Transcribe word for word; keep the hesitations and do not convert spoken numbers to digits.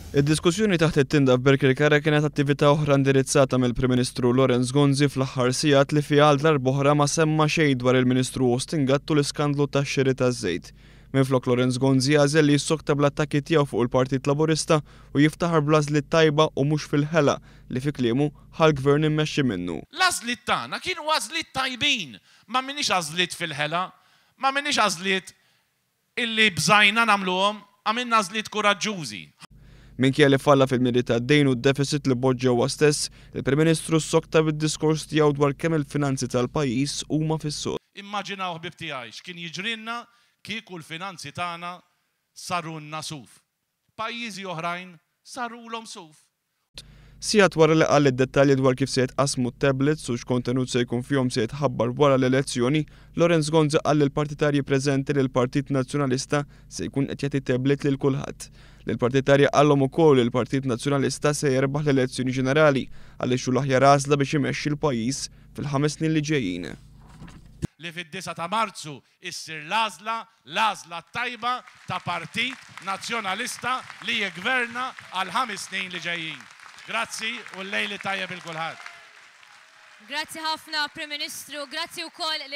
Id-diskussjoni taħt it-tinda f'Birkirkara kienet attività oħra indirizzata mill-Prim Ministru Lawrence Gonzi fl-aħħar sigħat li fiha għal darb'oħra ma semma xejn dwar il-Ministru Austin Gatt u l-iskandlu tax-xiri taż-żejt. Minflok, Lawrence Gonzi għażel li jissokta bl-attakki tiegħu fuq il-Partit Laburista u jiftaħar bl-għażliet tajba u mhux fil-ħela li fi kliemu ħa l-gvern immexxi minnu. L-għażliet tagħna kienu għażliet tajbin, ma minix għażliet fil-ħela, ma minix għażliet illi bżajna nagħmluhom, għamilna għażliet kuraġġużi. Minkejja li falla fil-miri tad-dejn u d-deficit li poġġa huwa stess, il-Prim Ministru ssokta bid-diskors tiegħu dwar kemm il-finanzi tal-pajjiż huma fis-sod. Immaġinaw, ħbieb tiegħi, x'kien jiġrilna kieku l-finanzi tagħna sarunna suf. Pajjiżi oħrajn sarulhom suf. Sigħat wara li qal id-dettalji dwar kif se jitqasmu tablets u x'kontenut se jkun fihom se jitħabbar wara l-elezzjoni, Lawrence Gonzi qal lill-partitarji preżenti li l-Partit Nazzjonalista se jkun qed jagħti tablet lil kulħadd. Lill-partitarji qallhom ukoll li l-Partit Nazzjonalista se jerbaħ l-elezzjoni ġenerali għaliex hu l-aħjar għażla biex imexxi l-pajjiż fil-ħames snin li ġejjin. Li fid-disgħa ta' Marzu issir l-għażla, l-għażla tajba ta' Partit Nazzjonalista li jigverna għal ħames snin li ġejjin. Grazzi u l-lejl it-tajjeb lil kulħadd. Grazzi ħafna, Prim Ministru, grazzi wkoll lil